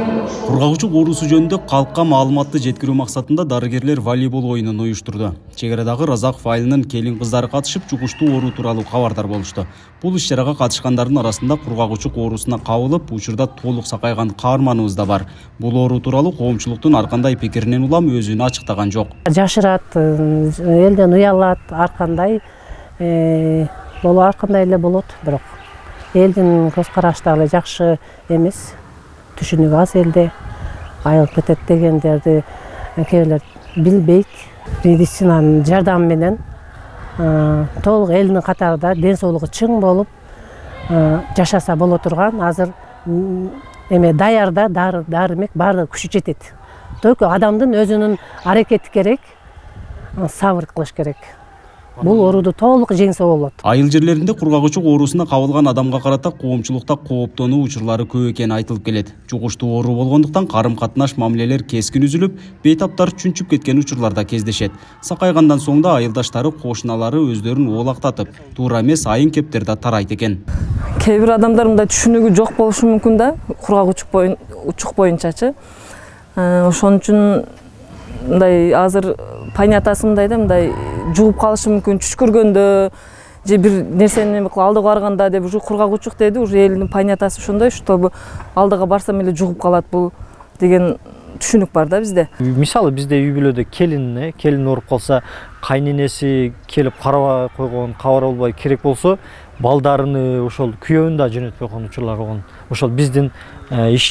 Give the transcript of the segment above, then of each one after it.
Кургагучук оорусу жөнүндө калкка маалыматты жеткирүү максатында дарыгерлер волейбол оюнун уюштурду. Чек арадагы Разаков айылынын келин кыздары катышып, жугуштуу оору тууралуу кабардар болушту. Бул иш-чарага катышкандардын арасында кургагучук оорусуна кабылып, учурда толук сакайган каарманыбыз да бар. Бул оору тууралуу коомчулуктун ар кандай пикиринен улам өзүн ачыктаган жок. Жашырат, элден уялат, ар кандай эле болот, бирок элдин көз караштары жакшы эмес. Түшүнүк аз элде айылып кетет дегендерди кээ бирлер билбейт. Медицинанын жардамы менен толук элдин катарында ден соолугу чың болуп жашаса боло турган азыр даярда дары-дармек баары күчү жетет. Только адамдын өзүнүн аракети керек, сабыр кылыш керек. Бул ооруду толук жеңсе болот. Айыл жерлеринде кургагучук оорусуна кабылган адамга карата коомчулукта кооптонуу учурлары көп экени айтылып келет. Жугуштуу оору болгондуктан карым-катнаш мамилелер кескин үзүлүп, бейтаптар чүнчүп кеткен учурлар да кездешет. Сакайгандан соң да айылдаштары, кошуналары өздөрүн оолактатып, туура эмес айын кептер да тарайт экен. Кээ бир адамдар мындай түшүнүгү жок болушу мүмкүн да, кургагучук боюнчачы. Ошон үчүн мындай азыр понятасы мындай да, мындай жугуп калышы мүмкүн, түш көргөндө же бир нерсени алдыга барганда деп ушу кургагучук деди, уже элдин понятасы ошондой, чтобы алдыга барсам эле жугуп калат бул деген түшүнүк бар да бизде. Мисалы бизде үй бүлөдө келин ооруп калса, кайненеси келип карабай койгон, кабар албай керек болсо, балдарыны ошол күйөөүн да жөнөтпөй койгон учурлар болгон. Ошол биздин иш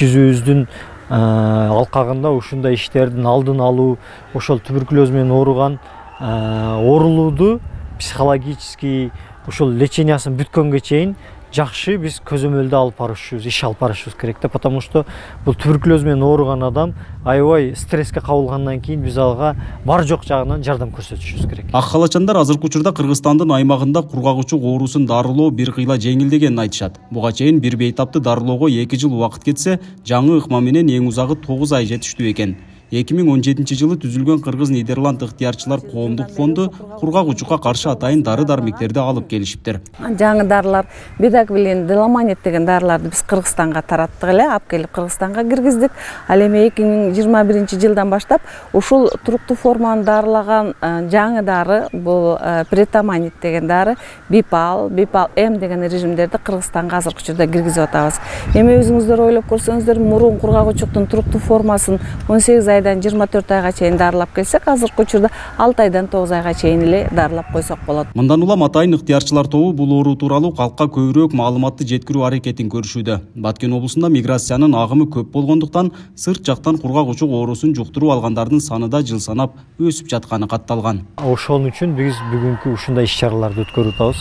жүзүбүздүн алкагында ушундай иштердин алдын алуу, ошол туберкулез менен ооруган оорулууду психологический ошол лечениясын бүткөнгө чейин жакшы биз көзөмөлдө алып барышыбыз, иш алып барышыбыз керек да, потому что бул туберкулез менен ооруган адам аябай стресске кабылгандан кийин биз ага бар жок жагынан жардам көрсөтүшүбүз керек. Ак халачандар азыркы учурда Кыргызстандын аймагында кургагучук оорусун дарылоо бир кыйла жеңилдегенин айтышат. Буга чейин бир бейтапты дарылоого 2 жыл убакыт кетсе, жаңы ыкма менен эң узагы 9 ай жетиштүү экен. 2017 жылы түзүлгөн Кыргыз-Нидерланд ыктыярчылар коомдук фонду кургагучукка каршы атайын дары-дармектерди алып келишиптир. Жаңы дарылар, бедагвилин, деламанит деген дарыларды биз Кыргызстанга тараттык эле, алып келип Кыргызстанга киргиздик. Ал эми 2021 жылдан баштап ушул туруктуу форманы дарылаган жаңы дары, бул претаманит деген дары, бипал М деген режимдерди Кыргызстанга азыркы учурда киргизип атабыз. Эми өзүңүздөр ойлоп көрсөңүздөр, мурун кургагучуктун туруктуу формасын 18 айдан 24 айга чейин дарылап келсек, азыркы учурда 6 айдан 9 айга чейин эле дарылап койсок болот. Мындан улам атайын ыктыярчылар тобу бул оору тууралуу калкка көбүрөөк маалыматты жеткирүү аракетин көрүшүүдө. Баткен облусунда миграциянын агымы көп болгондуктан сырт жактан кургагучук оорусун жуктуруп алгандардын саны да жыл санап өсүп жатканы катталган. Ошон үчүн биз бүгүнкү ушундай иш-чараларды өткөрүп атабыз.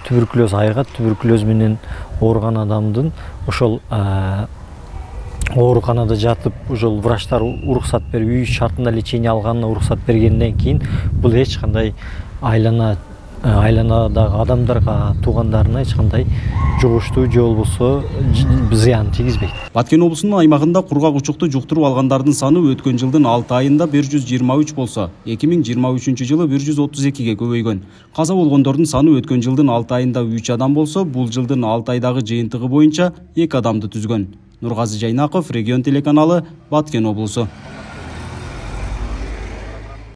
Туберкулез айыгат, туберкулез менен ооруган адамдын ошол ооруканада жатып, ошол врачтар уруксат берип, үй шартында лечение алганына уруксат бергенден кийин бул эч кандай айланадагы адамдарга, туугандарына эч кандай жугуштуу же болбосо зыян тийгизбейт. Баткен облусунун аймагында кургагучукту жуктуруп алгандардын саны өткөн жылдын 6 айында 123 болсо, 2023 жылы 132ге көбөйгөн. Каза болгондордун саны өткөн жылдын 6 айында 3 адам болсо, бул жылдын 6 айдагы жыйынтыгы боюнча 2 адамды түзгөн. Нургазы Жайнаков, Регион телеканалы, Баткен облусу.